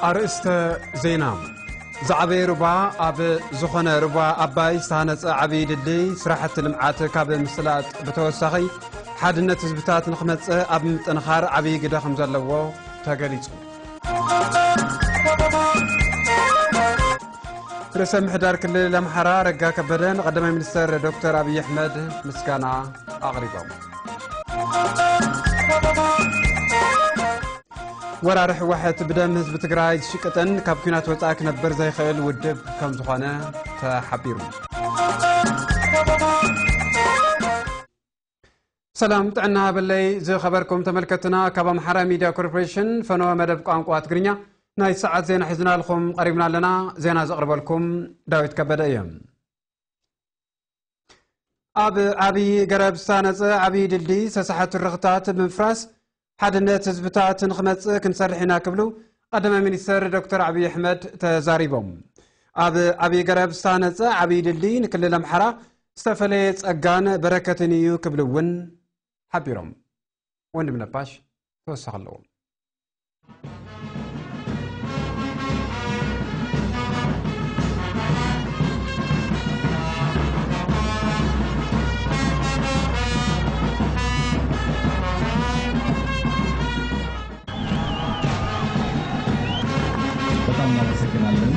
ኣርእስተ ዜና። ዝዓበየ ሩባ ኣብ ዝኾነ ሩባ ኣባይ ዝተሃነጸ ዓብዪ ድልድይ ስራሕቲ ልምዓት ካብ ምስላጥ ብተወሳኺ ሓድነት ህዝብታት ንኽመጽእ ኣብ ምጥንኻር ዓብዪ ግደ ከም ዘለዎ ተገሊጹ። ርእሰ ምሕዳር ክልል ኣምሓራ ኣረጋ ከበደ ንቐዳማይ ሚኒስተር ዶክተር ኣብይ ኣሕመድ ምስጋና ኣቕሪቦም። ወራሪ ህወሓት ብደም ህዝቢ ትግራይ ዝሽቅጥን ካብ ኲናት ወፃኢ ክነብር ዘይኽእል ውድብ ከም ዝኾነ ተሓቢሩ። ሰላም ጥዕና በለይ ዝኸበርኩም ተመልከትና፣ ካብ ኣምሓራ ሚድያ ኮርፖሬሽን ፈነወ መደብ ቋንቋ ትግርኛ ናይ ሰዓት ዜና ሒዝናልኩም ቀሪብና ኣለና። ዜና ዘቕርበልኩም ዳዊት ከበደ እየ። ኣብ ዓብዪ ገረብ ዝሳነጸ ዓብዪ ድልድይ ዝተሳሕቱ ርኽታት ብምፍራስ ሓድነት ህዝብታት ንኽመጽእ ክንሰርሕ ኢና ክብሉ ቀዳማይ ሚኒስትር ዶክተር ዓብዪ ኣሕመድ ተዛሪቦም። ኣብ ዓብዪ ገረብ ዝሳነጸ ዓብዪ ድልድይ ንክልል ኣምሓራ ዝተፈለየ ጸጋን በረከትን እዩ ክብሉ እውን ሓቢሮም። ወንድም ነባሽ ተወሳኺ ኣለዎ። በጣም እናመሰግናለን።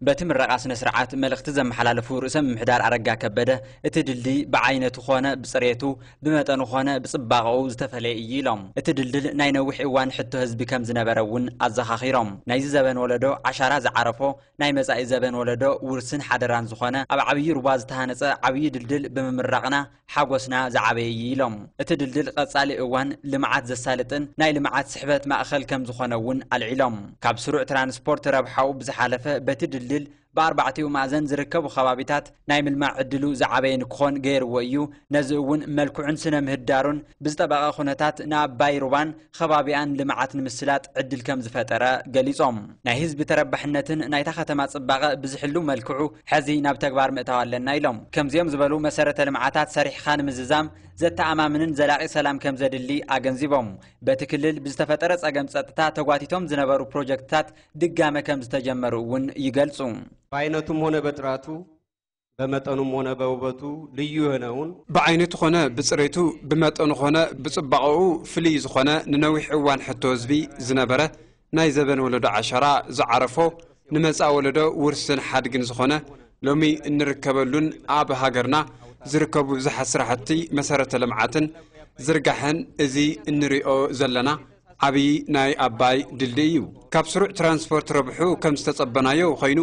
በቲ ምረቓ ስነ ስርዓት መልእኽቲ ዘመሓላለፉ ርእሰ ምምሕዳር ኣረጋ ከበደ፣ እቲ ድልድይ ብዓይነቱ ኾነ ብፅሬቱ፣ ብመጠኑ ኾነ ብፅባቐኡ ዝተፈለየ እዩ ኢሎም። እቲ ድልድል ናይ ነዊሕ እዋን ሕቶ ህዝቢ ከም ዝነበረ እውን ኣዘኻኺሮም። ናይዚ ዘበን ወለዶ ዓሻራ ዝዓረፎ፣ ናይ መጻኢ ዘበን ወለዶ ውርስን ሓደራን ዝኾነ ኣብ ዓብዪ ሩባ ዝተሃነጸ ዓብዪ ድልድል ብምምራቕና ሓጎስና ዝዓበየ እዩ ኢሎም። እቲ ድልድል ቀጻሊ እዋን ልምዓት ዘሳልጥን ናይ ልምዓት ስሕበት ማእኸል ከም ዝኾነ እውን ኣልዒሎም። ካብ ስሩዕ ትራንስፖርት ረብሓኡ ብዝሓለፈ በቲ ድልድል ብኣርባዕቲኡ ማእዘን ዝርከቡ ከባቢታት ናይ ምልማዕ ዕድሉ ዝዓበየ ንክኾን ገይርዎ እዩ። ነዚ እውን መልክዑን ስነ ምህዳሩን ብዝጠበቐ ኩነታት ንኣባይ ሩባን ከባቢኣን ልምዓት ንምስላጥ ዕድል ከም ዝፈጠረ ገሊጾም። ናይ ህዝቢ ተረባሕነትን ናይታ ከተማ ጽባቐ ብዝሕሉ መልክዑ ሕዚ ናብ ተግባር ምእታው ኣለና ኢሎም። ከምዚኦም ዝበሉ መሰረተ ልምዓታት ሰሪሕኻ ንምዝዛም ዘተኣማምንን ዘላቒ ሰላም ከም ዘድሊ ኣገንዚቦም። በቲ ክልል ብዝተፈጠረ ጸገም ጸጥታ ተጓቲቶም ዝነበሩ ፕሮጀክትታት ድጋመ ከም ዝተጀመሩ እውን ይገልጹ። በአይነቱም ሆነ በጥራቱ፣ በመጠኑም ሆነ በውበቱ ልዩ የሆነውን ብዓይነቱ ኾነ ብጽሬቱ፣ ብመጠኑ ኾነ ብጽባቐኡ ፍልይ ዝኾነ፣ ንነዊሕ እዋን ሕቶ ህዝቢ ዝነበረ፣ ናይ ዘበን ወለዶ ዓሻራ ዝዓረፎ፣ ንመጻኢ ወለዶ ውርስን ሓድግን ዝኾነ፣ ሎሚ እንርከበሉን ኣብ ሃገርና ዝርከቡ ብዙሓት ስራሕቲ መሰረተ ልምዓትን ዝርጋሐን እዚ እንሪኦ ዘለና ዓብዪ ናይ ኣባይ ድልድይ እዩ። ካብ ስሩዕ ትራንስፖርት ረብሑ ከም ዝተጸበናዮ ኮይኑ፣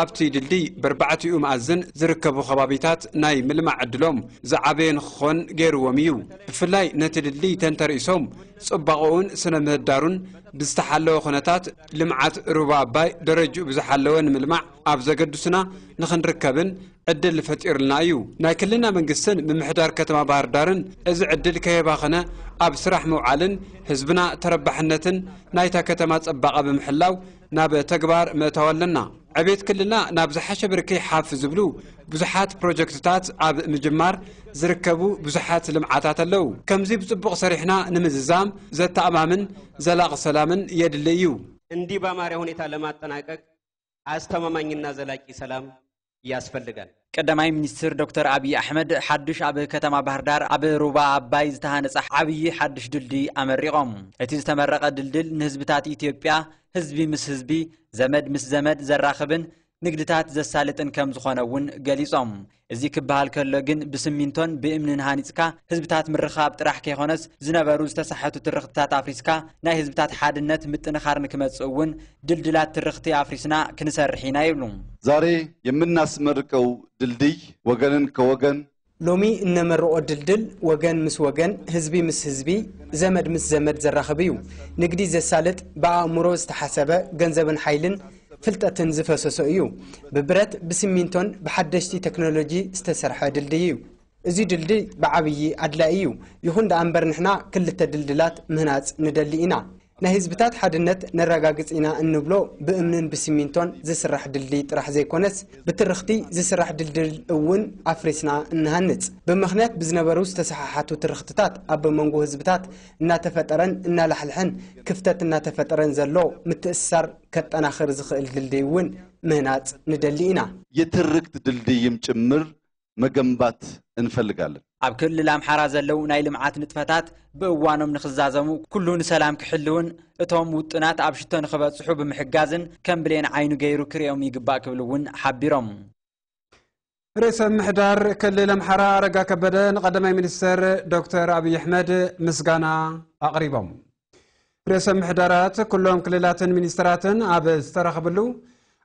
ኣብቲ ድልድይ በርባዕቲኡ መኣዝን ዝርከቡ ከባቢታት ናይ ምልማዕ ዕድሎም ዝዓበየ ንክኾን ገይርዎም እዩ። ብፍላይ ነቲ ድልድይ ተንተርኢሶም ጽባቐኡን ስነ ምህዳሩን ብዝተሓለወ ኩነታት ልምዓት ሩባ ኣባይ ደረጅኡ ብዝሓለወ ንምልማዕ ኣብ ዘገድሱና ንኽንርከብን ዕድል ፈጢሩልና እዩ። ናይ ክልልና መንግስትን ምምሕዳር ከተማ ባህር ዳርን እዚ ዕድል ከየባኸነ ኣብ ስራሕ ምውዓልን ህዝብና ተረባሕነትን ናይታ ከተማ ጽባቐ ብምሕላው ናብ ተግባር ምእታው ኣለና። ዕቤት ክልልና ናብ ዝሓሸ ብርኪ ሓፍ ዝብሉ ብዙሓት ፕሮጀክትታት ኣብ ምጅማር ዝርከቡ ብዙሓት ልምዓታት ኣለዉ። ከምዚ ብጽቡቕ ሰሪሕና ንምዝዛም ዘተኣማምን ዘላቒ ሰላምን የድሊ እዩ። እንዲህ ባማረ ሁኔታ ለማጠናቀቅ አስተማማኝና ዘላቂ ሰላም ያስፈልጋል። ቀዳማይ ሚኒስትር ዶክተር ኣብይ ኣሕመድ ሓዱሽ ኣብ ከተማ ባህር ዳር ኣብ ሩባ ኣባይ ዝተሃነፀ ዓብዪ ሓዱሽ ድልድይ ኣመሪቖም። እቲ ዝተመረቐ ድልድል ንህዝብታት ኢትዮጵያ፣ ህዝቢ ምስ ህዝቢ፣ ዘመድ ምስ ዘመድ ዘራኽብን ንግድታት ዘሳልጥን ከም ዝኾነ እውን ገሊጾም። እዚ ክበሃል ከሎ ግን ብስሚንቶን ብእምንን ሃኒጽካ ህዝብታት ምርኻብ ጥራሕ ከይኾነስ ዝነበሩ ዝተሳሕቱ ትርኽትታት ኣፍሪስካ ናይ ህዝብታት ሓድነት ምጥንኻር ንክመጽእ እውን ድልድላት ትርኽቲ ኣፍሪስና ክንሰርሕ ኢና ይብሉ። ዛሬ የምናስመርቀው ድልድይ ወገንን ከወገን ሎሚ እነመርቖ ድልድል ወገን ምስ ወገን፣ ህዝቢ ምስ ህዝቢ፣ ዘመድ ምስ ዘመድ ዘራኽብ እዩ። ንግዲ ዘሳልጥ፣ ብኣእምሮ ዝተሓሰበ፣ ገንዘብን ሓይልን ፍልጠትን ዝፈሰሶ እዩ። ብብረት፣ ብሲሚንቶን ብሓደሽቲ ቴክኖሎጂ ዝተሰርሐ ድልድይ እዩ። እዚ ድልድይ ብዓብዪ ኣድላዪ እዩ። ይኹን ደኣ እምበር ንሕና ክልተ ድልድላት ምህናጽ ንደሊ ኢና። ናይ ህዝብታት ሓድነት ነረጋግጽ ኢና እንብሎ ብእምንን ብሲሚንቶን ዝስራሕ ድልድይ ጥራሕ ዘይኮነስ ብትርኽቲ ዝስራሕ ድልድል እውን ኣፍሪስና እንሃንጽ። ብምኽንያት ብዝነበሩ ዝተሰሓሓቱ ትርኽትታት ኣብ መንጎ ህዝብታት እናተፈጠረን እናላሕልሐን ክፍተት እናተፈጠረን ዘሎ ምትእስሳር ከጠናኽር ዝኽእል ድልድይ እውን ምህናጽ ንደሊ ኢና። የትርክት ድልድይም ጭምር መገንባት እንፈልጋለን። ኣብ ክልል ኣምሓራ ዘለዉ ናይ ልምዓት ንጥፈታት ብእዋኖም ንኽዛዘሙ ኩሉ ንሰላም ክሕልውን እቶም ውጥናት ኣብ ሽቶ ንኽበጽሑ ብምሕጋዝን ከም ብሌን ዓይኑ ገይሩ ክርእዮም ይግባእ ክብል እውን ሓቢሮም። ርእሰ ምሕዳር ክልል ኣምሓራ ኣረጋ ከበደ ንቐዳማይ ሚኒስትር ዶክተር ኣብይ ኣሕመድ ምስጋና ኣቕሪቦም። ርእሰ ምሕዳራት ኩሎም ክልላትን ሚኒስትራትን ኣብ ዝተረኸብሉ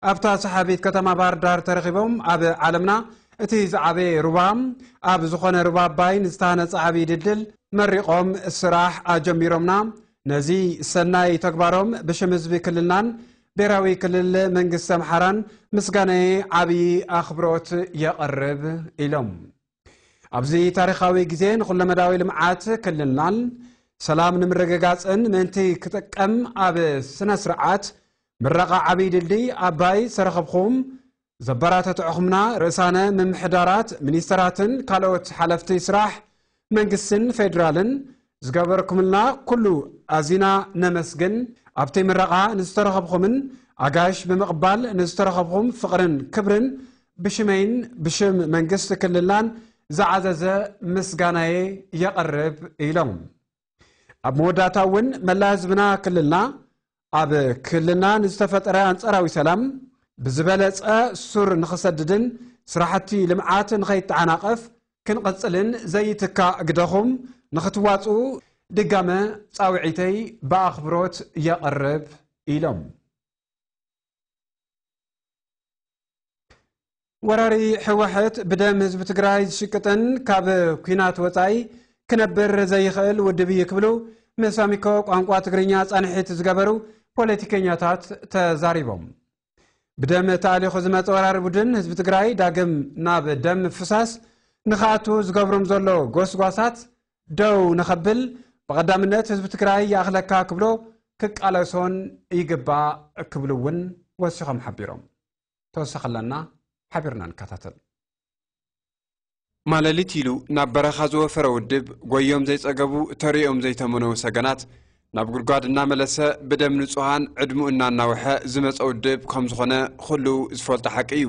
ኣብታ ሰሓቢት ከተማ ባህር ዳር ተረኺቦም ኣብ ዓለምና እቲ ዝዓበየ ሩባ ኣብ ዝኾነ ሩባ ኣባይ ንዝተሃነፀ ዓብዪ ድልድል መሪቖም ስራሕ ኣጀሚሮምና። ነዚ ሰናይ ተግባሮም ብሽም ህዝቢ ክልልናን ብሔራዊ ክልል መንግስቲ ኣምሓራን ምስጋናየ ዓብዪ ኣኽብሮት የቐርብ ኢሎም። ኣብዚ ታሪኻዊ ግዜ ንኹለመዳዊ ልምዓት ክልልናን ሰላም ንምርግጋፅን ምእንቲ ክጥቀም ኣብ ስነ ስርዓት ምረቓ ዓብዪ ድልድይ ኣባይ ዝተረኸብኹም ዘበራተትዕኹምና ርእሳነ ምምሕዳራት፣ ሚኒስተራትን ካልኦት ሓለፍቲ ስራሕ መንግስትን ፌዴራልን ዝገበርኩምልና ኩሉ ኣዚና ነመስግን። ኣብቲ ምረቓ ንዝተረኸብኹምን ኣጋይሽ ብምቕባል ንዝተረኸብኹም ፍቕርን ክብርን ብሽመይን ብሽም መንግስቲ ክልልናን ዝዓዘዘ ምስጋናየ የቕርብ ኢሎም። ኣብ መወዳእታ እውን መላ ህዝብና ክልልና ኣብ ክልልና ንዝተፈጠረ ኣንጻራዊ ሰላም ብዝበለጸ ሱር ንኽሰድድን ስራሕቲ ልምዓት ንኸይተዓናቐፍ ክንቐጽልን ዘይትካእ ግደኹም ንኽትዋጽኡ ድጋመ ጻውዒተይ ብኣኽብሮት የቕርብ ኢሎም። ወራሪ ህወሓት ብደም ህዝቢ ትግራይ ዝሽቅጥን ካብ ኲናት ወፃኢ ክነብር ዘይኽእል ውድብ እዩ ክብሉ ምስ ኣሚኮ ቋንቋ ትግርኛ ፃንሒት ዝገበሩ ፖለቲከኛታት ተዛሪቦም። ብደም ተኣሊኹ ዝመፀ ወራሪ ቡድን ህዝቢ ትግራይ ዳግም ናብ ደም ፍሳስ ንኽኣቱ ዝገብሮም ዘሎ ጎስጓሳት ደው ንኸብል ብቐዳምነት ህዝቢ ትግራይ ይኣኽለካ ክብሎ ክቃለሶን ይግባእ ክብሉ እውን ወሲኾም ሓቢሮም። ተወሳኺ ኣለና፣ ሓቢርና ንከታተል። ማለሊት ኢሉ ናብ በረኻ ዝወፈረ ውድብ፣ ጎዮም ዘይጸገቡ፣ ተሪኦም ዘይተመነዉ ሰገናት፣ ናብ ጉድጓድ እናመለሰ፣ ብደም ንጹሃን ዕድሙ እናናውሐ ዝመጸ ውድብ ከም ዝኾነ ኩሉ ዝፈልጦ ሓቂ እዩ።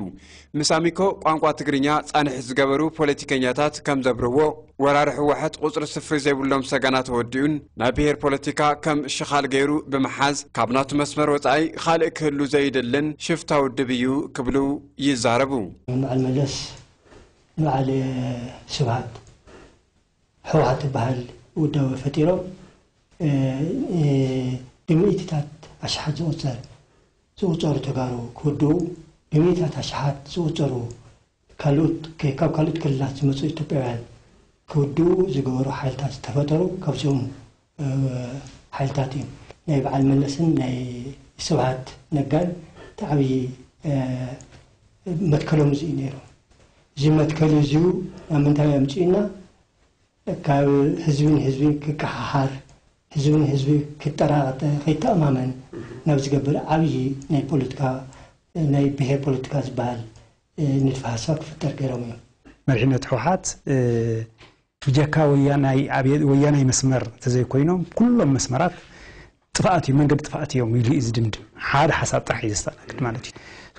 ምስ ኣሚኮ ቋንቋ ትግርኛ ጻንሒት ዝገበሩ ፖለቲከኛታት ከም ዘብርህዎ፣ ወራሪ ህወሓት ቁጽሪ ስፍሪ ዘይብሎም ሰገናት ተወዲኡን፣ ናይ ብሄር ፖለቲካ ከም ሽኻል ገይሩ ብምሓዝ፣ ካብ ናቱ መስመር ወጻኢ ካልእ ክህሉ ዘይደልን ሽፍታ ውድብ እዩ ክብሉ ይዛረቡ። በዓል መለስ ንበዓል ስብሃት ህወሓት ትበሃል ውዳበ ፈጢሮም፣ እ፣ እ፣ ብሚእትታት ኣሽሓት ዝቑጸር፣ ዝቑጸሩ ተጋሩ ክውድኡ፣ ብሚእትታት ኣሽሓት ዝቑጸሩ ካልኦት፣ ከ-፣ ካብ ካልኦት ክልላት ዝመጹ ኢትዮጵያውያን ክውድኡ ዝገበሩ ሓይልታት ዝተፈጠሩ፣ ካብዚኦም፣ እ፣ ሓይልታት እዮም። ናይ በዓል መለስን ናይ ስብሃት ነጋን እቲ ዓብዪ፣ እ፣ መትከሎም እዚ እዩ ነይሩ። እዚ መትከል እዚኡ ናብ ምንታይ ኣምጺኡና? ካብ ህዝቢ ንህዝቢ ክከሓሓር፣ ህዝቢ ንህዝቢ ክጠራቐጠ፣ ከይተኣማመን ናብ ዝገብር ዓብዪ ናይ ፖለቲካ፣ ናይ ብሄር ፖለቲካ ዝበሃል፣ እ፣ ንድፈ ሃሳብ ክፍጠር ገይሮም እዮም። መሪሕነት ህወሓት፣ እ፣ ብጀካ ወያናይ፣ ኣብ ወያናይ መስመር ተዘይኮይኖም ኩሎም መስመራት ጥፍኣት እዩ፣ መንገዲ ጥፍኣት እዮም ኢሉ እዩ ዝድምድም። ሓደ ሓሳብ ጥራሕ እዩ ዘስተኣናግድ ማለት እዩ።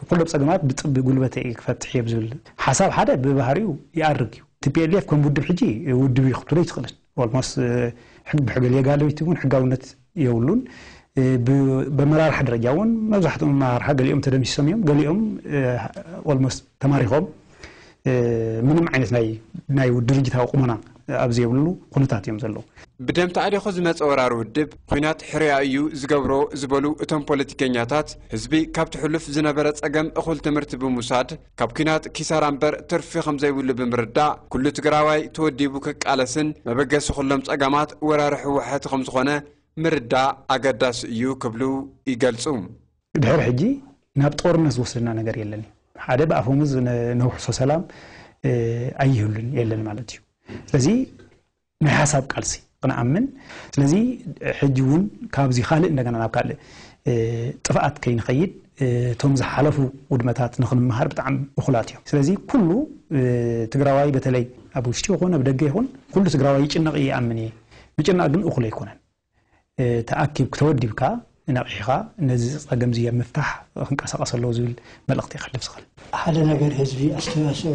ኩሎም ጸገማት ብጥብ ጉልበተ እየ ክፈትሕ እየ ብዝብል ሓሳብ ሓደ ብባህሪኡ ይኣርግ እዩ። ቲ ፒ ኤል ኤፍ ከም ውድብ ሕጂ ውድብ እዩ ክትብሎ ኣይትኽእልን። ኦልሞስት፣ እ፣ ሕግ-፣ ብሕገ ሌጋላዊቲ እውን ሕጋውነት የብሉን። እ፣ ብ-፣ በመራርሓ ደረጃ እውን መብዛሕትኦም መራርሓ ገሊኦም ተደምሲሶም እዮም፣ ገሊኦም፣ እ፣ ኦልሞስት ተማሪኾም፣ እ፣ ምንም ዓይነት ናይ፣ ናይ ድርጅታዊ ቁመና፣ ኣብ ዘይብሉ ኩነታት እዮም ዘለዉ። ብደም ተኣሊኹ ዝመጸ ወራሪ ውድብ፣ ኲናት ሕርያ እዩ ዝገብሮ ዝበሉ እቶም ፖለቲከኛታት፣ ህዝቢ ካብቲ ሕሉፍ ዝነበረ ጸገም እኹል ትምህርቲ ብምውሳድ፣ ካብ ኲናት ኪሳራ እምበር ትርፊ ከም ዘይብሉ ብምርዳእ፣ ኩሉ ትግራዋይ ተወዲቡ ክቃለስን መበገሲ ኩሎም ጸገማት ወራሪ ህወሓት ከም ዝኾነ ምርዳእ ኣገዳሲ እዩ ክብሉ ይገልጹ። ድሕሪ ሕጂ ናብ ጦርነት ዝወስደና ነገር የለን። ሓደ ብኣፈሙዝ ነውሕሶ ሰላም ኣይህሉን የለን ማለት እዩ። ስለዚ ናይ ሓሳብ ቃልሲ ክንኣምን፣ ስለዚ ሕጂ እውን ካብዚ ካልእ እንደገና ናብ ካልእ ጥፍኣት ከይንኸይድ፣ እቶም ዝሓለፉ ውድመታት ንክንምሃር ብጣዕሚ እኹላት እዮም። ስለዚ ኩሉ ትግራዋይ በተለይ ኣብ ውሽጢ ይኹን ኣብ ደገ ይኹን ኩሉ ትግራዋይ ይጭነቕ ይኣምን እየ። ምጭናቕ ግን እኹል ኣይኮነን። ተኣኪብ ክተወዲብካ ነቒሕኻ ነዚ ጸገም እዚ ኣብ ምፍታሕ ክንቀሳቐስ ኣለዎ ዝብል መልእኽቲ ከሕልፍ ዝኽእል። ሓደ ነገር ህዝቢ ኣስተዋፅኦ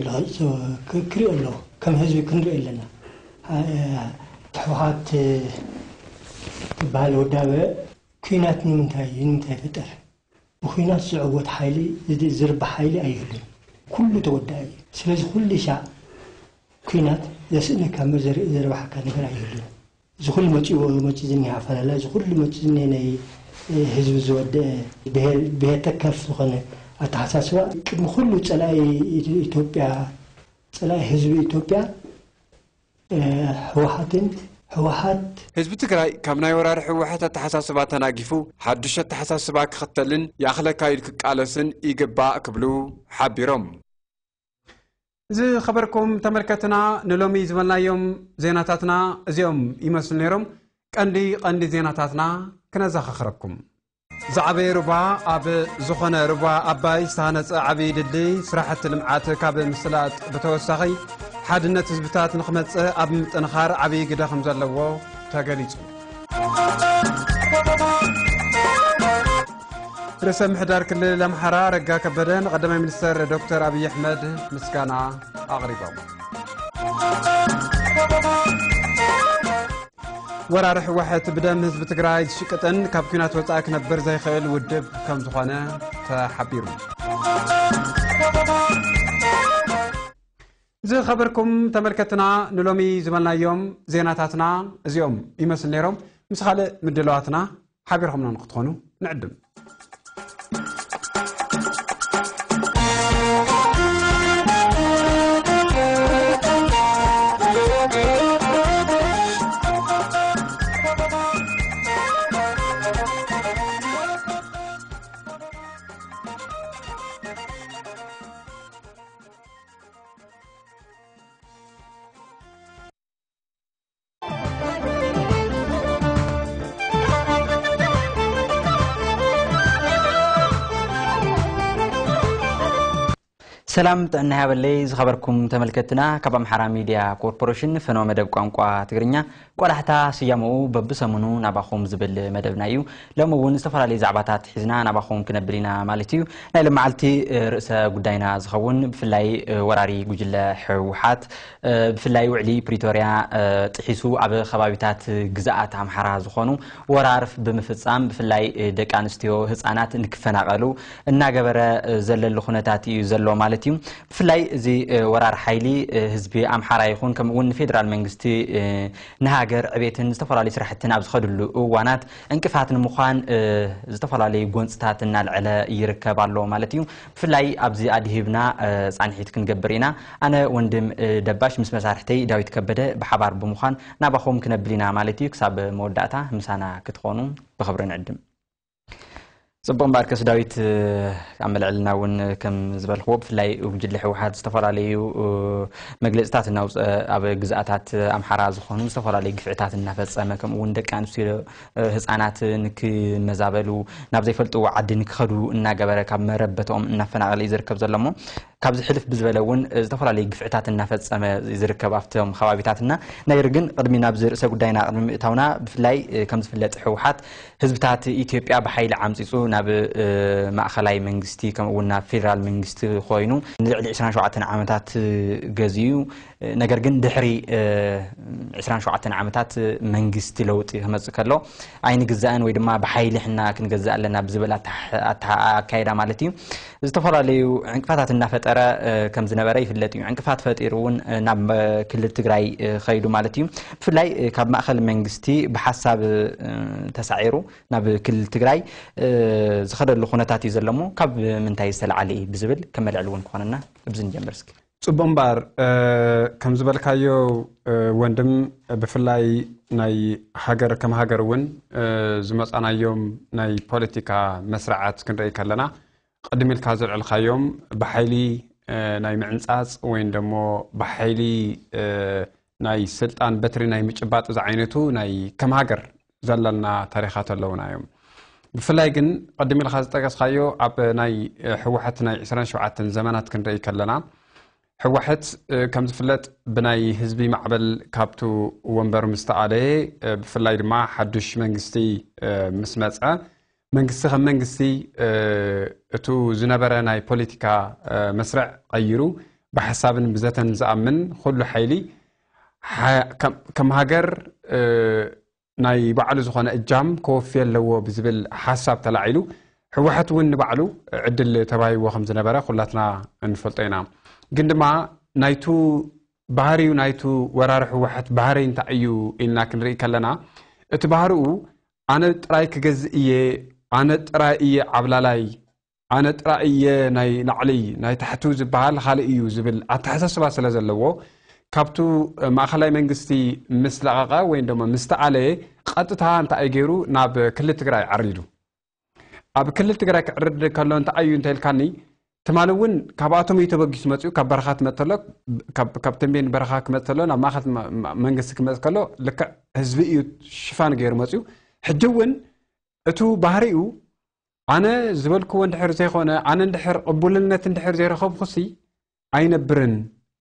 ክርኢ ኣለዎ። ከም ህዝቢ ክንርኢ ኣለና። ህወሓት ትበሃል ውዳበ ኲናት ንምንታይ እዩ ንምንታይ ይፍጠር? ብኲናት ዝዕወት ሓይሊ ዝርባሕ ሓይሊ ኣይህሉን። ኩሉ ተወዳኢ እዩ። ስለዚ ኩሉ ሻዕ ኲናት ዘስእነካ እምበር ዘርባሓካ ነገር ኣይህሉን። እዚ ኩሉ መፂኡ መፂኡ ዝኒሀ ኣፈላላይ፣ እዚ ኩሉ መፂኡ ዝኒሀ ናይ ህዝቢ ዝወደአ ብሄር ተከፍ ዝኾነ ኣተሓሳስባ ቅድሚ ኩሉ ፀላኢ ኢትዮጵያ፣ ፀላኢ ህዝቢ ኢትዮጵያ ህወሓትን ህወሓት ህዝቢ ትግራይ ካብ ናይ ወራሪ ህወሓት ኣተሓሳስባ ተናጊፉ ሓዱሽ ኣተሓሳስባ ክኽተልን ይኣኽለካ ኢሉ ክቃለስን ይግባእ ክብሉ ሓቢሮም። ዝኸበርኩም ተመልከትና ንሎሚ ዝበልናዮም ዜናታትና እዚኦም ይመስሉ ነይሮም። ቀንዲ ቀንዲ ዜናታትና ክነዘኻኽረኩም። ዝዓበየ ሩባ ኣብ ዝኾነ ሩባ ኣባይ ዝተሃነፀ ዓብዪ ድልድይ ስራሕቲ ልምዓት ካብ ምስላጥ ብተወሳኺ ሓድነት ህዝብታት ንክመፅእ ኣብ ምጥንኻር ዓብዪ ግደ ከም ዘለዎ ተገሊፁ። ርእሰ ምሕዳር ክልል ኣምሓራ ኣረጋ ከበደ ንቀዳማይ ሚኒስተር ዶክተር ኣብይ ኣሕመድ ምስጋና ኣቕሪቦም። ወራሪ ህወሓት ብደም ህዝቢ ትግራይ ዝሽቅጥን ካብ ኲናት ወፃኢ ክነብር ዘይኽእል ውድብ ከም ዝኾነ ተሓቢሩ። ዝኸበርኩም ተመልከትና ንሎሚ ዝበልናዮም ዜናታትና እዚኦም ይመስል ነይሮም። ምስ ካልእ ምድለዋትና ሓቢርኩምና ንክትኾኑ ንዕድም። ሰላም ጥዕና ይሃበለይ ዝኸበርኩም ተመልከትና፣ ካብ ኣምሓራ ሚድያ ኮርፖሬሽን ፈነወ መደብ ቋንቋ ትግርኛ ቆላሕታ ስያመኡ በብሰሙኑ ናባኹም ዝብል መደብና እዩ። ሎም እውን ዝተፈላለዩ ዛዕባታት ሒዝና ናባኹም ክነብል ኢና ማለት እዩ። ናይ ለመዓልቲ ርእሰ ጉዳይና ዝኸውን ብፍላይ ወራሪ ጉጅለ ህወሓት ብፍላይ ውዕሊ ፕሪቶርያ ጥሒሱ ኣብ ከባቢታት ግዝኣት ኣምሓራ ዝኾኑ ወራር ብምፍፃም ብፍላይ ደቂ ኣንስትዮ ህፃናት ንክፈናቐሉ እናገበረ ዘለሉ ኩነታት እዩ ዘሎ ማለት እዩ። ብፍላይ እዚ ወራር ሓይሊ ህዝቢ ኣምሓራ ይኹን ከምኡ እውን ንፌደራል መንግስቲ ንሃገር ዕቤትን ዝተፈላለዩ ስራሕትን ኣብ ዝኸድሉ እዋናት ዕንቅፋት ንምዃን ዝተፈላለዩ ጎንፅታት እናልዐለ ይርከብ ኣሎ ማለት እዩ። ብፍላይ ኣብዚ ኣድሂብና ፃንሒት ክንገብር ኢና። ኣነ ወንድም ደባሽ ምስ መሳርሕተይ ዳዊት ከበደ ብሓባር ብምዃን ናባኹም ክነብል ኢና ማለት እዩ። ክሳብ መወዳእታ ምሳና ክትኾኑ ብኽብሪ ንዕድም። ፅቡቕ እምበኣርከስ ዳዊት፣ ኣብ መልዕልና እውን ከም ዝበልክዎ ብፍላይ ጉጅለ ህወሓት ዝተፈላለዩ መግለፅታት እናውፀ ኣብ ግዝኣታት ኣምሓራ ዝኾኑ ዝተፈላለዩ ግፍዕታት እናፈፀመ ከምኡ እውን ደቂ ኣንስትዮ ህፃናት ንክመዛበሉ ናብ ዘይፈልጥዎ ዓዲ ንክኸዱ እናገበረ ካብ መረበትኦም እናፈናቐለ እዩ ዝርከብ ዘሎ እሞ ካብዚ ሕልፍ ብዝበለ እውን ዝተፈላለዩ ግፍዕታት እናፈፀመ ዝርከብ ኣብቶም ከባቢታትና። ነገር ግን ቅድሚ ናብዚ ርእሰ ጉዳይና ቅድሚ ምእታውና ብፍላይ ከም ዝፍለጥ ህወሓት ህዝብታት ኢትዮጵያ ብሓይሊ ዓምፂፁ ናብ ማእኸላይ መንግስቲ ከምኡ እውን ናብ ፌደራል መንግስቲ ኮይኑ ንልዕሊ ዕስራን ሸውዓተን ዓመታት ገዚኡ። ነገር ግን ድሕሪ ዕስራን ሸውዓተን ዓመታት መንግስቲ ለውጢ ክመፅእ ከሎ ኣይንግዛእን ወይ ድማ ብሓይሊ ሕና ክንገዝእ ኣለና ብዝብል ኣካይዳ ማለት እዩ ዝተፈላለዩ ዕንቅፋታት እናፈጠረ ከም ዝነበረ ይፍለጥ እዩ። ዕንቅፋት ፈጢሩ እውን ናብ ክልል ትግራይ ከይዱ ማለት እዩ። ብፍላይ ካብ ማእኸል መንግስቲ ብሓሳብ ተሳዒሩ ናብ ክልል ትግራይ ዝኸደሉ ኩነታት እዩ ዘሎ እሞ ካብ ምንታይ ዝተለዓለ እዩ ብዝብል ከመልዕል እውን ክኾነና እብዚ ንጀምር እስኪ። ጽቡቕ እምበኣር፣ ከም ዝበልካዮ ወንድም፣ ብፍላይ ናይ ሃገር ከም ሃገር እውን ዝመጻናዮም ናይ ፖለቲካ መስርዓት ክንርኢ ከለና ቅድም ኢልካ ዘልዕልካዮም ብሓይሊ ናይ ምዕንጻጽ ወይን ደሞ ብሓይሊ ናይ ስልጣን በትሪ ናይ ምጭባጥ ዝዓይነቱ ናይ ከም ሃገር ዘለና ታሪኻት ኣለውና እዮም። ብፍላይ ግን ቅድም ኢልካ ዝጠቀስካዮ ኣብ ናይ ህወሓት ናይ ዕስራን ሸውዓተን ዘመናት ክንርኢ ከለና ህወሓት ከም ዝፍለጥ ብናይ ህዝቢ ማዕበል ካብቱ ወንበር ምስ ተኣለየ ብፍላይ ድማ ሓዱሽ መንግስቲ ምስ መፀ መንግስቲ ከም መንግስቲ እቱ ዝነበረ ናይ ፖለቲካ መስርዕ ቀይሩ ብሓሳብን ብዘተን ዝኣምን ኩሉ ሓይሊ ከም ሃገር ናይ ባዕሉ ዝኾነ እጃም ከወፊ ኣለዎ ብዝብል ሓሳብ ተላዒሉ ህወሓት እውን ንባዕሉ ዕድል ተባሂዎ ከም ዝነበረ ኩላትና እንፈልጦ ኢና። ግን ድማ ናይቱ ባህሪዩ ናይቱ ወራሪ ህወሓት ባህሪ እንታይ እዩ ኢልና ክንርኢ ከለና እቲ ባህሪኡ ኣነ ጥራይ ክገዝእ እየ፣ ኣነ ጥራይ እየ ዓብላላይ፣ ኣነ ጥራይ እየ ናይ ላዕሊ ናይ ታሕቱ ዝበሃል ካልእ እዩ ዝብል ኣተሓሳስባ ስለ ዘለዎ ካብቱ ማእኸላይ መንግስቲ ምስ ለቐቐ ወይ ደሞ ምስ ተኣለየ ቀጥታ እንታይ እዩ ገይሩ ናብ ክልል ትግራይ ዓሪዱ። ኣብ ክልል ትግራይ ክዕርድ ከሎ እንታይ እዩ እንተልካኒ ትማሊ እውን ካብኣቶም እዩ ተበጊሱ መፅኡ ካብ በረኻ ትመፅእ ተሎ ካብ ተንቤን በረኻ ክመፅእ ተሎ ናብ ማእኸል መንግስቲ ክመፅእ ከሎ ልክዕ ህዝቢ እዩ ሽፋን ገይሩ መፅኡ። ሕጂ እውን እቱ ባህሪኡ ኣነ ዝበልክዎ እንድሕር ዘይኮነ ኣነ እንድሕር ቅቡልነት እንድሕር ዘይረኸብኩሲ ኣይነብርን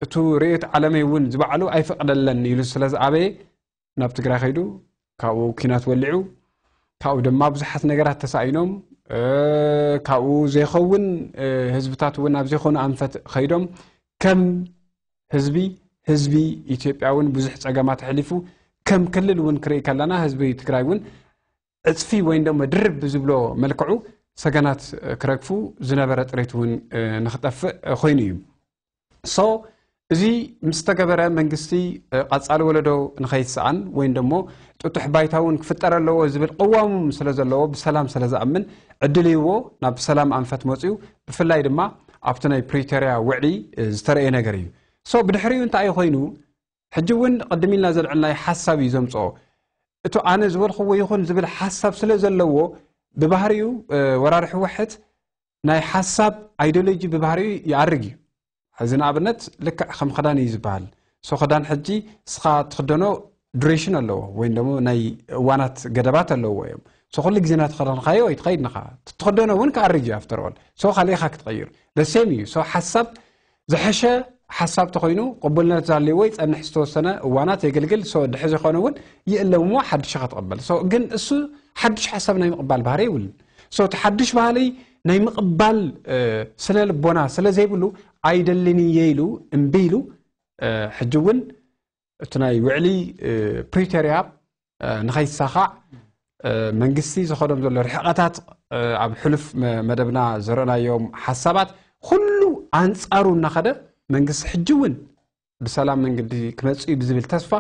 እቱ ርእዮት ዓለመይ እውን ዝባዕሉ ኣይፈቕደለን ኢሉ ስለ ዝኣበየ ናብ ትግራይ ከይዱ ካብኡ ኪናት ወሊዑ ካብኡ ድማ ብዙሓት ነገራት ተሳኢኖም ካብኡ ዘይኸውን ህዝብታት እውን ኣብ ዘይኮኑ ኣንፈት ከይዶም ከም ህዝቢ ህዝቢ ኢትዮጵያ እውን ብዙሕ ፀገማት ኣሕሊፉ ከም ክልል እውን ክርኢ ከለና ህዝቢ ትግራይ እውን ዕፅፊ ወይ ደሞ ድርብ ብዝብሎ መልክዑ ሰገናት ክረግፉ ዝነበረ ጥሬት እውን ንክጠፍእ ኮይኑ እዩ። ሶ እዚ ምስ ተገበረ መንግስቲ ቀፃሊ ወለዶ ንኸይትሰኣን ወይ ደሞ ጥጡሕ ባይታ እውን ክፍጠር ኣለዎ ዝብል ቅዋሙ ስለ ዘለዎ ብሰላም ስለ ዝኣምን ዕድል ይዎ ናብ ሰላም ኣንፈት መፅኡ ብፍላይ ድማ ኣብቲ ናይ ፕሪቶርያ ውዕሊ ዝተረእየ ነገር እዩ። ሶ ብድሕሪኡ እንታይ እዩ ኮይኑ ሕጂ እውን ቅድም ኢልና ዘልዕልናዮ ሓሳብ እዩ ዘምፅኦ። እቱ ኣነ ዝበልኽዎ ይኹን ዝብል ሓሳብ ስለ ዘለዎ ብባህሪኡ ወራሪ ህወሓት ናይ ሓሳብ ኣይዲዮሎጂ ብባህሪኡ ይኣርግ እዩ። ሕዚ ንኣብነት ልክዕ ከም ክዳን እዩ ዝበሃል። ሶ ክዳን ሕጂ እስኻ ትኽደኖ ዱሬሽን ኣለዎ ወይ ደሞ ናይ እዋናት ገደባት ኣለዎ እዮም። ሶ ኩሉ ግዜ ናቲ ክዳንካዮ ኣይትኸይድ ንኻ ትኽደኖ እውን ክኣርግ እዩ ኣፍተር ኦል ሶ ካልእኻ ክትቐይር ደሴም እዩ። ሶ ሓሳብ ዝሐሸ ሓሳብ ተኮይኑ ቅቡልነት ዛለዎ ይፀንሕ ዝተወሰነ እዋናት የገልግል ሶ ድሕዚ ዝኾነ እውን ይእለምዎ ሓድሽ ክትቕበል ሶ ግን እሱ ሓድሽ ሓሳብ ናይ ምቕባል ባህሪ ይብልን ሶ እቲ ሓድሽ ባህሊ ናይ ምቕባል ስነ ልቦና ስለ ዘይብሉ ኣይደልን እየ ኢሉ እምቢ ኢሉ ሕጂ እውን እቲ ናይ ውዕሊ ፕሪቶርያ ንኸይሳኻዕ መንግስቲ ዝኸዶም ዘሎ ርሕቐታት ኣብ ሕሉፍ መደብና ዘረእናዮም ሓሳባት ኩሉ ኣንፃሩ እናኸደ መንግስቲ ሕጂ እውን ብሰላም መንገዲ ክመፅእ እዩ ብዝብል ተስፋ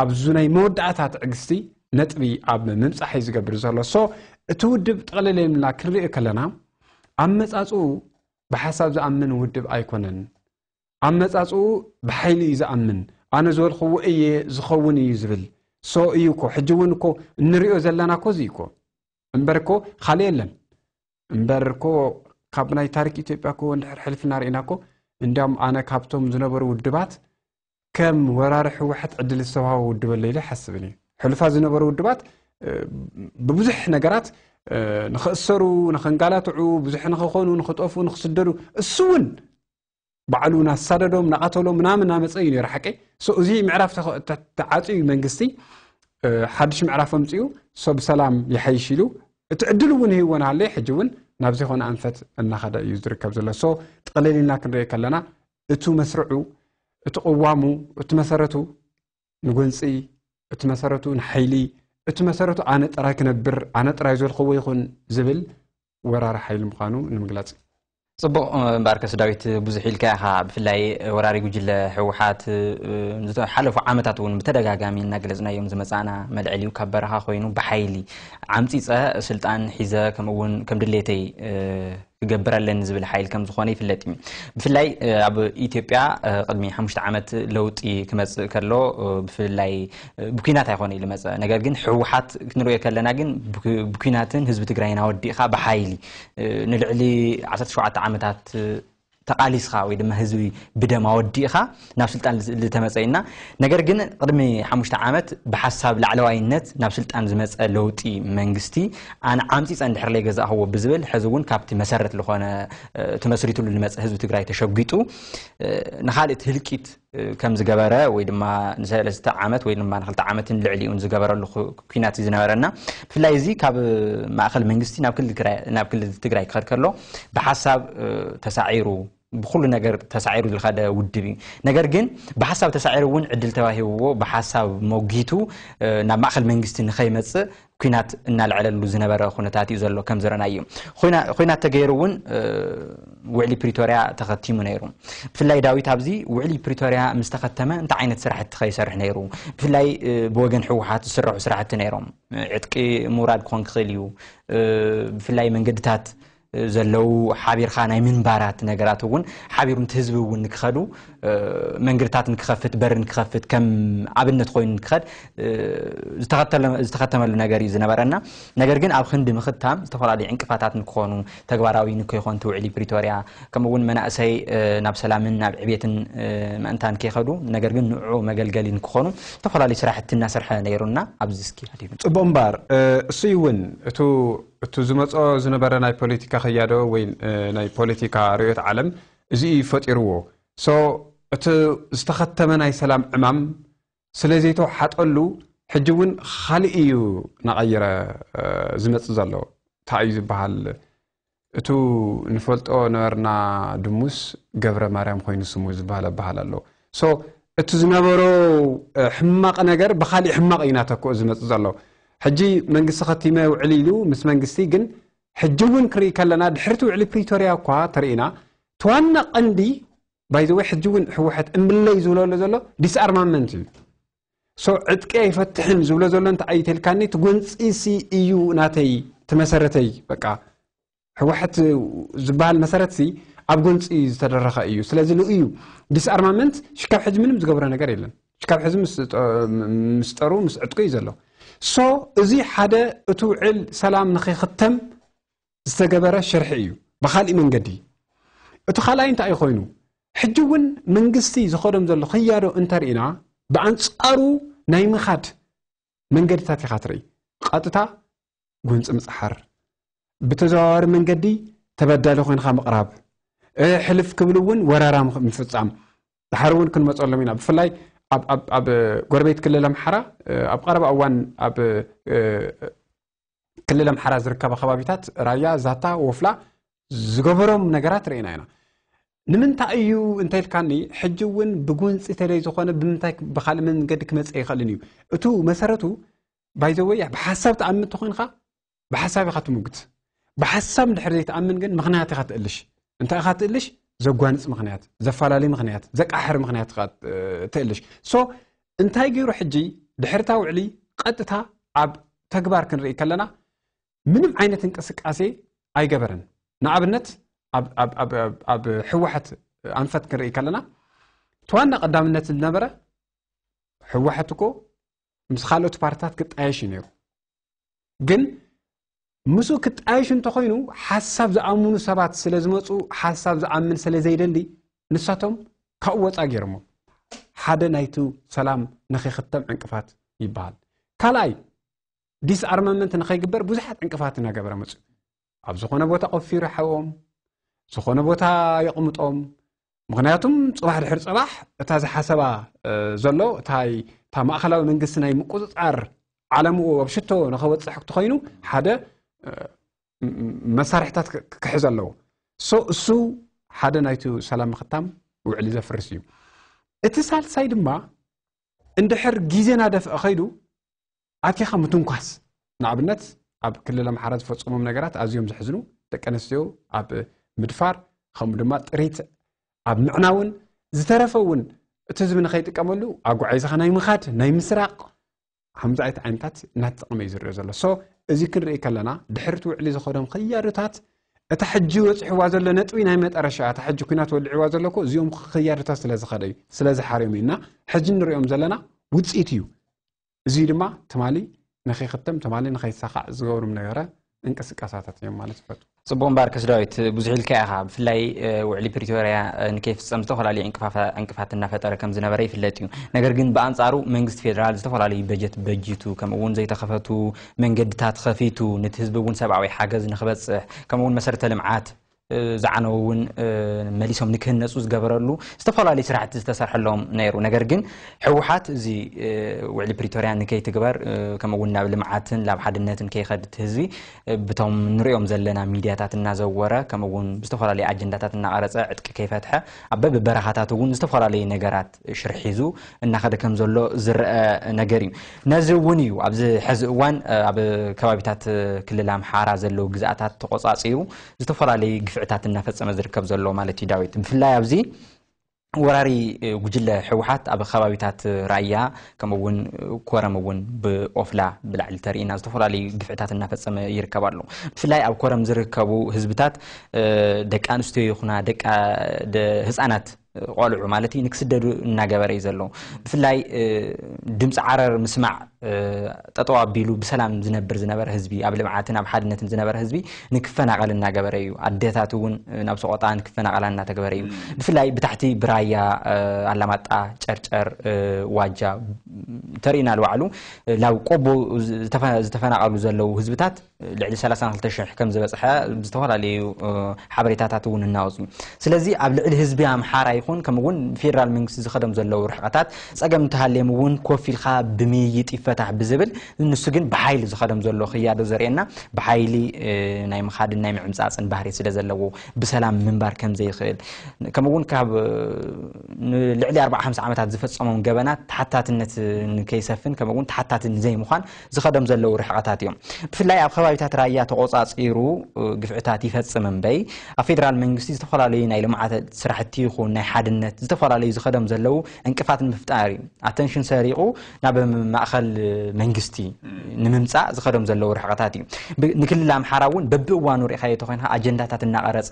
ኣብዚ ናይ መወዳእታ ትዕግስቲ ነጥቢ ኣብ ምምፃሕ እዩ ዝገብር ዘሎ ሶ እቲ ውድብ ጠቕልል ኢልና ክንሪኦ ከለና ኣመፃፅኡ ብሓሳብ ዝኣምን ውድብ ኣይኮነን ኣመፃፅኡ ብሓይሊ እዩ ዝኣምን ኣነ ዝበልክዎ እየ ዝኸውን እዩ ዝብል ሶ እዩ እኮ ሕጂ እውን እኮ እንሪኦ ዘለና እኮ እዚ እኮ እምበር እኮ ካልእ የለን እምበር እኮ ካብ ናይ ታሪክ ኢትዮጵያ እኮ እንድሕር ሕልፍና ርኢና እኮ እንዲያም ኣነ ካብቶም ዝነበሩ ውድባት ከም ወራሪ ህወሓት ዕድል ዝተዋሃቦ ውድብ ኣሎ ኢለ ይሓስብን እዩ ሕሉፋት ዝነበሩ ውድባት ብብዙሕ ነገራት ንኽእሰሩ ንኽንጋላትዑ ብዙሕ ንኽኾኑ ንኽጠፍኡ ንኽስደዱ እሱ እውን ባዕሉ ናሳደዶም ናቐተሎም ምናምን ናመፀ እዩ ነይሩ ሓቂ ሶ እዚ ምዕራፍ ተዓፅዩ መንግስቲ ሓድሽ ምዕራፍ ኣምፅኡ ሶ ብሰላም ይሓይሽ ኢሉ እቲ ዕድል እውን ህይወን ሃለይ ሕጂ እውን ናብ ዘይኮነ ኣንፈት እናኸደ እዩ ዝርከብ ዘሎ ሶ ጥቕልል ኢልና ክንሪኦ ከለና እቱ መስርዑ እቲ ቅዋሙ እቲ መሰረቱ ንጎንፂ እቲ መሰረቱ ንሓይሊ እቲ መሰረቱ ኣነ ጥራይ ክነብር ኣነ ጥራይ ዘልክዎ ይኹን ዝብል ወራሪ ሓይሊ ምዃኑ ንምግላፅ እዩ። ጽቡቕ። እምበኣርከስ ዳዊት፣ ብዙሕ ኢልካ ኢኻ። ብፍላይ ወራሪ ጉጅለ ህወሓት ዝሓለፉ ዓመታት እውን ብተደጋጋሚ እናገለጽናዮም ዝመጻእና መልዕል እዩ። ካብ በረኻ ኮይኑ ብሓይሊ ዓምጺጸ ስልጣን ሒዘ ከምኡ እውን ከም ድሌተይ ክገብር ኣለኒ ዝብል ሓይል ከም ዝኾነ ይፍለጥ እዩ። ብፍላይ ኣብ ኢትዮጵያ ቅድሚ ሓሙሽተ ዓመት ለውጢ ክመጽእ ከሎ ብፍላይ ብኲናት ኣይኮነ ኢሉ መጸ። ነገር ግን ህወሓት ክንሪኦ ከለና ግን ብኲናትን ህዝቢ ትግራይን ኣወዲእኻ ብሓይሊ ንልዕሊ ዓሰርተ ሸውዓተ ዓመታት ተቓሊስኻ ወይ ድማ ህዝቢ ብደም ኣወዲእኻ ናብ ስልጣን ዝተመጸ ኢና። ነገር ግን ቅድሚ ሓሙሽተ ዓመት ብሓሳብ ላዕለዋይነት ናብ ስልጣን ዝመጸ ለውጢ መንግስቲ ኣነ ዓምጺጸ እንድሕር ለይገዛእኽዎ ብዝብል ሕዚ እውን ካብቲ መሰረት ዝኾነ ተመስሪትሉ ዝመጸ ህዝቢ ትግራይ ተሸጒጡ ንኻልእ ህልቂት ከም ዝገበረ ወይ ድማ ንሰለስተ ዓመት ወይ ድማ ንክልተ ዓመትን ልዕሊኡን ዝገበረሉ ኩናት እዩ ዝነበረና። ብፍላይ እዚ ካብ ማእኸል መንግስቲ ናብ ክልል ትግራይ ክኸድ ከሎ ብሓሳብ ተሳዒሩ ብኩሉ ነገር ተሳዒሩ ዝኸደ ውድብ እዩ። ነገር ግን ብሓሳብ ተሳዒሩ እውን ዕድል ተዋሂብዎ ብሓሳብ ሞጊቱ ናብ ማእኸል መንግስቲ ንኸይመፅእ ኩናት እናልዐለሉ ዝነበረ ኩነታት እዩ ዘሎ። ከም ዝረናዩ ኩናት ተገይሩ እውን ውዕሊ ፕሪቶርያ ተኸቲሙ ነይሩ። ብፍላይ ዳዊት ኣብዚ ውዕሊ ፕሪቶርያ ምስ ተኸተመ እንታይ ዓይነት ስራሕቲ ከይሰርሕ ነይሩ? ብፍላይ ብወገን ህወሓት ዝስረሑ ስራሕቲ ነይሮም። ዕጥቂ ምውራድ ክኾን ክኽእል እዩ። ብፍላይ መንገድታት ዘለዉ ሓቢርካ ናይ ምንባራት ነገራት እውን ሓቢሩ ነቲ ህዝቢ እውን ንክኸዱ መንገድታት ንክኸፍት በር ንክኸፍት ከም ኣብነት ኮይኑ ንክኸድ ዝተኸተመሉ ነገር እዩ ዝነበረና። ነገር ግን ኣብ ክንዲ ምኽታም ዝተፈላለዩ ዕንቅፋታት ንክኾኑ ተግባራዊ ንከይኮን ትውዕሊ ፕሪቶርያ ከምኡ እውን መናእሰይ ናብ ሰላምን ናብ ዕቤትን ምእንታን ከይኸዱ ነገር ግን ንዑ መገልገሊ ንክኾኑ ዝተፈላለዩ ስራሕቲ እናሰርሐ ነይሩና ኣብዚ እስኪ ሃዲሙ። ጽቡቕ እምበር እሱ እውን እቱ እቱ ዝመጾ ዝነበረ ናይ ፖለቲካ ክያዶ ወይ ናይ ፖለቲካ ርእዮት ዓለም እዚ እዩ ፈጢርዎ። So እቲ ዝተኸተመ ናይ ሰላም ዕማም ስለ ዘይተወሓጠሉ ሕጂ እውን ካልእ እዩ ናቐየረ ዝመጽእ ዘሎ። እንታይ እዩ ዝበሃል? እቱ ንፈልጦ ነበርና ድሙስ ገብረ ማርያም ኮይኑ ስሙ ዝበሃል ኣበሃል ኣሎ። So እቲ ዝነበሮ ሕማቕ ነገር ብካሊእ ሕማቕ እዩ ናተክኦ ዝመጽእ ዘሎ። ሕጂ መንግስቲ ከቲመ ውዕል ኢሉ ምስ መንግስቲ ግን ሕጂ እውን ክርኢ ከለና ድሕርቲ ውዕሊ ፕሪቶርያ እኳ ተርእና እቲ ዋና ቀንዲ ባይዘወይ ሕጂ እውን ህወሓት እምለይ ዝብለሉ ዘሎ ዲስኣርማመንት እዩ። So ዕጥቂ ኣይፈትሕን ዝብሎ ዘሎ እንተ ኣይተልካኒ እቲ ጎንፂሲ እዩ ናተይ እቲ መሰረተይ በቃ ህወሓት ዝበሃል መሰረት ሲ ኣብ ጎንፂ ዝተደረኸ እዩ። ስለዚ ንኡ እዩ ዲስኣርማመንት ሽካብ ሕጂ ምንም ዝገብሮ ነገር የለን። ሽካብ ሕዚ ምስ ጠሩ ምስ ዕጥቁ እዩ ዘሎ። So እዚ ሓደ እቲ ውዕል ሰላም ንኸይኽተም ዝተገበረ ሽርሒ እዩ። ብኻሊእ መንገዲ እቲ ካልኣይ እንታይ እዩ ኮይኑ ሕጂ እውን መንግስቲ ዝኸዶም ዘሎ ክያዶ እንተርኢና ብኣንፃሩ ናይ ምኻድ መንገድታት ኢኻ ትርኢ። ቀጥታ ጎንፂ ምፅሓር፣ ብተዘዋዋሪ መንገዲ ተበዳሊ ኮይንካ ምቕራብ፣ ሕልፍ ክብል እውን ወረራ ምፍፃም። ድሓር እውን ክንመፀሎም ኢና። ብፍላይ ኣብ ጎረቤት ክልል ኣምሓራ ኣብ ቀረባ እዋን ኣብ ክልል ኣምሓራ ዝርከባ ከባቢታት ራያ፣ ዛታ፣ ወፍላ ዝገበሮም ነገራት ርኢና ኢና። ንምንታይ እዩ እንተልካኒ ሕጂ እውን ብጉንፂ ተለይ ዝኾነ ብምንታይ ብካልእ መንገዲ ክመፀ ይኽእልን እዩ። እቱ መሰረቱ ባይዘወይ ብሓሳብ ተኣምን ተኮይንካ ብሓሳብ ኢኻ ትምጉት። ብሓሳብ እንድሕር ዘይትኣምን ግን ምኽንያት ኢኻ ትእልሽ። እንታይ ኢኻ ትእልሽ? ዘጓንፅ ምኽንያት፣ ዘፈላለይ ምኽንያት፣ ዘቃሕር ምኽንያት ኢኻ ትእልሽ። So እንታይ ገይሩ ሕጂ ድሕርታ ውዕሊ ቀጥታ ኣብ ተግባር ክንርኢ ከለና ምንም ዓይነት እንቅስቃሴ ኣይገበረን። ንኣብነት ኣብ ህወሓት ኣንፈት ክንርኢ ከለና እቲ ዋና ቀዳምነት ዝነበረ ህወሓት እኮ ምስ ካልኦት ፓርትታት ክጣየሽ እዩ ነይሩ። ግን ምስኡ ክጣየሽ እንተኮይኑ ሓሳብ ዝኣምኑ ሰባት ስለ ዝመፁ ሓሳብ ዝኣምን ስለ ዘይደሊ ንሳቶም ካብኡ ወፃ ገይሮሞ ሓደ ናይቲ ሰላም ንኸይክተም ዕንቅፋት ይበሃል። ካልኣይ ዲስኣርማመንት ንኸይግበር ብዙሓት ዕንቅፋት እናገበረ መፅኡ። ኣብ ዝኾነ ቦታ ቆፊሩ ሓዎም ዝኾነ ቦታ የቕምጦም። ምኽንያቱም ፅባሕ ድሕሪ ፅባሕ እታ ዝሓሰባ ዘሎ እታ ማእኸላዊ መንግስቲ ናይ ምቁፅፃር ዓለምኡ ኣብ ሽቶ ንኸወፅሕ ተኮይኑ ሓደ መሳርሕታት ክሕዝ ኣለዎ። እሱ ሓደ ናይቲ ሰላም ምኽታም ውዕሊ ዘፍርስ እዩ። እቲ ሳልሳይ ድማ እንድሕር ግዜ ናደፍአ ከይዱ ኣቲኻ ምትንኳስ፣ ንኣብነት ኣብ ክልል ኣምሓራ ዝፈፀሞም ነገራት ኣዝዮም ዘሕዝኑ፣ ደቂ ኣንስትዮ ኣብ ምድፋር፣ ከምኡ ድማ ጥሪት ኣብ ምዕናውን ዝተረፈ እውን እቲ ህዝቢ ንኸይጥቀመሉ ኣጓዒዝኻ ናይ ምኻድ ናይ ምስራቕ ከምዚ ዓይነት ዓይነታት እናተጠቐመ እዩ ዝርኦ ዘሎ። ሶ እዚ ክንርኢ ከለና ድሕርቲ ውዕሊ ዝኸዶም ክያዶታት እታ ሕጂ ወፂሕዋ ዘሎ ነጥቢ ናይ መጠረሻ እታ ሕጂ ኩናት ወሊዕዋ ዘሎ እኮ እዚኦም ክያዶታት ስለ ዝኸደ እዩ ስለ ዝሓርዮም እዩ እና ሕጂ ንሪኦም ዘለና ውፅኢት እዩ። እዚ ድማ ትማሊ ንኸይክተም ትማሊ ንኸይሳኻዕ ዝገብሩም ነገረ እንቅስቃሳታት እዮም ማለት ይፈቱ። ጽቡቕ እምበኣርከስ ዳዊት፣ ብዙሕ ኢልካ ኢኻ። ብፍላይ ውዕሊ ፕሪቶርያ ንከይፍጸም ዝተፈላለዩ ዕንቅፋት እናፈጠረ ከም ዝነበረ ይፍለጥ እዩ። ነገር ግን ብኣንጻሩ መንግስቲ ፌደራል ዝተፈላለዩ በጀት በጂቱ ከምኡ እውን ዘይተኸፈቱ መንገድታት ከፊቱ ነቲ ህዝቢ እውን ሰብኣዊ ሓገዝ ንክበጽሕ ከምኡ እውን መሰረተ ልምዓት ዝዓነው እውን መሊሶም ንክህነፁ ዝገበረሉ ዝተፈላለዩ ስራሕቲ ዝተሰርሐሎም ነይሩ። ነገር ግን ህወሓት እዚ ውዕሊ ፕሪቶርያ ንከይትግበር ከምኡ እውን ናብ ልምዓትን ናብ ሓድነትን ከይኸድት ህዝቢ ብቶም ንሪኦም ዘለና ሚድያታት እናዘወረ ከምኡ እውን ብዝተፈላለዩ ኣጀንዳታት እናቐረፀ ዕጥቂ ከይፈትሐ ኣብ በብበረኻታት እውን ዝተፈላለዩ ነገራት ሽርሕ ሒዙ እናኸደ ከም ዘሎ ዝረአ ነገር እዩ። ነዚ እውን እዩ ኣብዚ ሕዚ እዋን ኣብ ከባቢታት ክልል ኣምሓራ ዘለዉ ግዝኣታት ተቆፃፂሩ ዝተፈላለዩ ግፍዕታት እናፈፀመ ዝርከብ ዘሎ ማለት እዩ። ዳዊት፣ ብፍላይ ኣብዚ ወራሪ ጉጅለ ህወሓት ኣብ ከባቢታት ራያ ከምኡ እውን ኮረም እውን ብኦፍላ ብላዕሊ ተርእና ዝተፈላለዩ ግፍዕታት እናፈፀመ ይርከብ ኣሎ። ብፍላይ ኣብ ኮረም ዝርከቡ ህዝብታት ደቂ ኣንስትዮ ይኹና ደቂ ህፃናት ቆልዑ ማለት እዩ ንክስደዱ እናገበረ እዩ ዘሎ። ብፍላይ ድምፂ ዓረር ምስማዕ ጠጠው ኣቢሉ ብሰላም ዝነብር ዝነበረ ህዝቢ ኣብ ልምዓትን ኣብ ሓድነትን ዝነበረ ህዝቢ ንክፈናቐል እናገበረ እዩ። ኣዴታት እውን ናብ ሰቆጣ ንክፈናቐላ እናተገበረ እዩ። ብፍላይ ብታሕቲ ብራያ ኣላማጣ፣ ጨርጨር፣ ዋጃ ተርእና ልባዕሉ ናብ ቆቦ ዝተፈናቐሉ ዘለዉ ህዝብታት ልዕሊ ሰላሳን ክልተ ሽሕ ከም ዝበፅሐ ዝተፈላለዩ ሓበሬታታት እውን እናወፁ እዩ። ስለዚ ኣብ ልዕሊ ህዝቢ ኣምሓራ ይኹን ከምኡ እውን ፌደራል መንግስቲ ዝኸደም ዘለዉ ርሕቐታት ፀገም እንተሃልዮም እውን ኮፍ ኢልካ ብምይይጥ ይፈታሕ ብዝብል ንሱ ግን ብሓይሊ ዝኸደም ዘሎ ክያዶ ዘርእየና ብሓይሊ ናይ ምኻድን ናይ ምዕምፃፅን ባህሪ ስለ ዘለዎ ብሰላም ምንባር ከም ዘይኽእል ከምኡ እውን ካብ ልዕሊ ኣርባዓ ሓምሳ ዓመታት ዝፈፀሞም ገበናት ተሓታትነት ንከይሰፍን ከምኡ እውን ተሓታቲ ንዘይምዃን ዝኸደም ዘለዉ ርሕቐታት እዮም። ብፍላይ ኣብ ከባቢታት ራያ ተቆፃፂሩ ግፍዕታት ይፈፅም እምበይ ኣብ ፌደራል መንግስቲ ዝተፈላለዩ ናይ ልምዓት ስራሕቲ ይኹን ናይ ሓድነት ዝተፈላለዩ ዝኸደም ዘለዉ ዕንቅፋት ንምፍጣር እዩ። ኣተንሽን ሰሪቑ ናብ ማእኸል መንግስቲ ንምምፃእ ዝኸደም ዘለዉ ርሕቐታት እዩ። ንክልል ኣምሓራ እውን በብእዋኑ ርኢኻዮ ተኮይንካ ኣጀንዳታት እናቐረፀ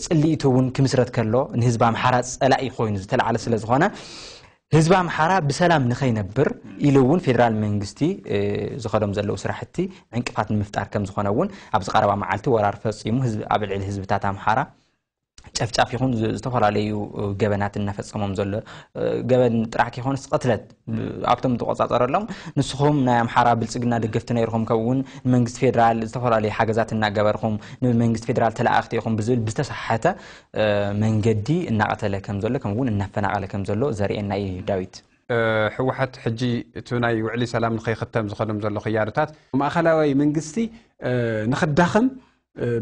ፅልኢቱ እውን ክምስረት ከሎ ንህዝቢ ኣምሓራ ፀላኢ ኮይኑ ዝተለዓለ ስለ ዝኾነ ህዝቢ ኣምሓራ ብሰላም ንኸይነብር ኢሉ እውን ፌደራል መንግስቲ ዝኸዶም ዘለዉ ስራሕቲ ዕንቅፋት ንምፍጣር ከም ዝኾነ እውን ኣብዚ ቀረባ መዓልቲ ወራር ፈፂሙ ኣብ ልዕሊ ህዝብታት ኣምሓራ ጨፍጫፍ ይኹን ዝተፈላለዩ ገበናት እናፈፀሞም ዘሎ ገበን ጥራሕ ከይኮነስ ቅትለት ኣብቶም ትቆፃፀረሎም ንስኹም ናይ ኣምሓራ ብልፅግና ደገፍቲ ነይርኹም ከምኡ እውን ንመንግስቲ ፌደራል ዝተፈላለዩ ሓገዛት እናገበርኩም ንመንግስቲ ፌደራል ተለኣእኽቲ ኢኹም ብዝብል ብዝተሰሓተ መንገዲ እናቐተለ ከም ዘሎ ከምኡ እውን እናፈናቐለ ከም ዘሎ ዘርእየና እዩ። ዳዊት፣ ህወሓት ሕጂ እቲ ናይ ውዕሊ ሰላም ንኸይኽተም ዝኸዶም ዘሎ ክያዶታት ማእኸላዊ መንግስቲ ንኽዳኸም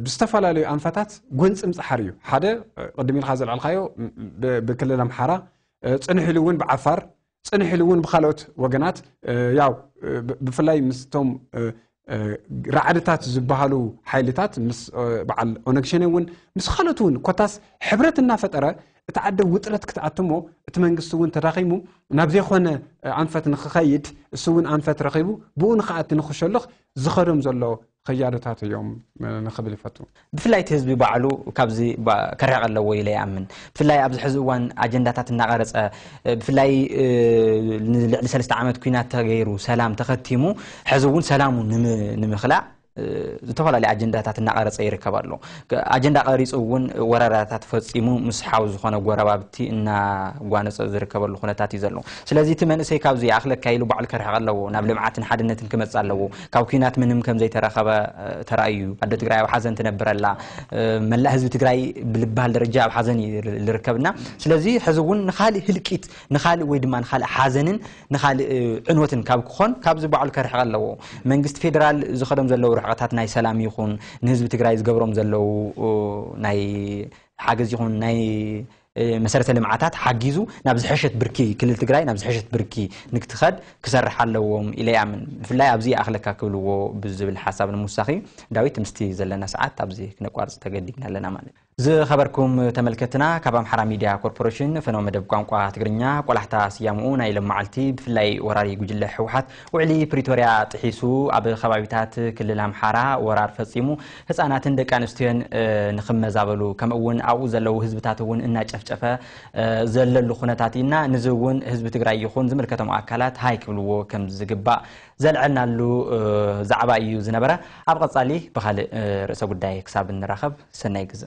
ብዝተፈላለዩ ኣንፈታት ጎንፂ ምፅሓር እዩ። ሓደ ቅድም ኢልካ ዘልዓልካዮ ብክልል ኣምሓራ ፅንሕ ኢሉ እውን ብዓፋር ፅንሕ ኢሉ እውን ብካልኦት ወገናት ያው ብፍላይ ምስቶም ራዕድታት ዝበሃሉ ሓይልታት ምስ በዓል ኦነግ ሸኔ እውን ምስ ካልኦት እውን ኮታስ ሕብረት እናፈጠረ እቲ ዓዲ ውጥረት ክትኣትሞ እቲ መንግስቲ እውን ተዳኺሙ ናብ ዘይኮነ ኣንፈት ንክኸይድ እሱ እውን ኣንፈት ረኺቡ ብኡ ንክኣቲ ንክሸልኽ ዝኸዶም ዘሎ ኸያዶታት እዮም ንኽብል ይፈቱ። ብፍላይ እቲ ህዝቢ ባዕሉ ካብዚ ከርሕቕ ኣለዎ ኢለ ይኣምን። ብፍላይ ኣብዚ ሕዚ እዋን ኣጀንዳታት እናቐረፀ ብፍላይ ንልዕሊ ሰለስተ ዓመት ኩናት ተገይሩ ሰላም ተኸቲሙ ሕዚ እውን ሰላሙ ንምኽላእ ዝተፈላለዩ ኣጀንዳታት እናቐረፀ ይርከብ ኣሎ። ኣጀንዳ ቀሪፁ እውን ወረራታት ፈፂሙ ምስ ሓው ዝኾነ ጎረባብቲ እናጓነፀ ዝርከበሉ ኩነታት እዩ ዘሎ። ስለዚ እቲ መንእሰይ ካብዚ ይኣኽለካ ኢሉ ባዕሉ ከርሕቕ ኣለዎ። ናብ ልምዓትን ሓድነትን ክመፅእ ኣለዎ። ካብ ኩናት ምንም ከም ዘይተረኸበ ተራእዩ ኣደ ትግራይ ኣብ ሓዘን ትነብር ኣላ። መላእ ህዝቢ ትግራይ ብልበሃል ደረጃ ኣብ ሓዘን እዩ ዝርከብና። ስለዚ ሕዚ እውን ንካሊእ ህልቂት ንካሊእ ወይ ድማ ንካሊእ ሓዘንን ንካሊእ ዕንወትን ካብ ክኾን ካብዚ ባዕሉ ከርሕቕ ኣለዎ። መንግስቲ ፌደራል ዝኸዶም ዘለዉ ርሕቐታት ናይ ሰላም ይኹን ንህዝቢ ትግራይ ዝገብሮም ዘለዉ ናይ ሓገዝ ይኹን ናይ መሰረተ ልምዓታት ሓጊዙ ናብ ዝሐሸት ብርኪ ክልል ትግራይ ናብ ዝሐሸት ብርኪ ንክትኸድ ክሰርሕ ኣለዎም ኢለ ይኣምን። ብፍላይ ኣብዚ ይኣኽለካ ክብልዎ ብዝብል ሓሳብ ንምውሳኺ ዳዊት ምስቲ ዘለና ሰዓት ኣብዚ ክነቋርፅ ተገዲድና ኣለና ማለት እዩ። ዝኸበርኩም ተመልከትና፣ ካብ ኣምሓራ ሚድያ ኮርፖሬሽን ፈነወ መደብ ቋንቋ ትግርኛ። ቆላሕታ ስያምኡ ናይ ሎም መዓልቲ ብፍላይ ወራሪ ጉጅለ ህወሓት ውዕሊ ፕሪቶርያ ጥሒሱ ኣብ ከባቢታት ክልል ኣምሓራ ወራር ፈፂሙ ህፃናትን ደቂ ኣንስትዮን ንክመዛበሉ ከምኡ እውን ኣብኡ ዘለዉ ህዝብታት እውን እናጨፍጨፈ ዘለሉ ኩነታት ኢና። ንዚ እውን ህዝቢ ትግራይ ይኹን ዝምልከቶም ኣካላት ሃይ ክብልዎ ከም ዝግባእ ዘልዐልናሉ ዛዕባ እዩ ዝነበረ። ኣብ ቀፃሊ ብካልእ ርእሰ ጉዳይ ክሳብ እንራኸብ ሰናይ ግዜ።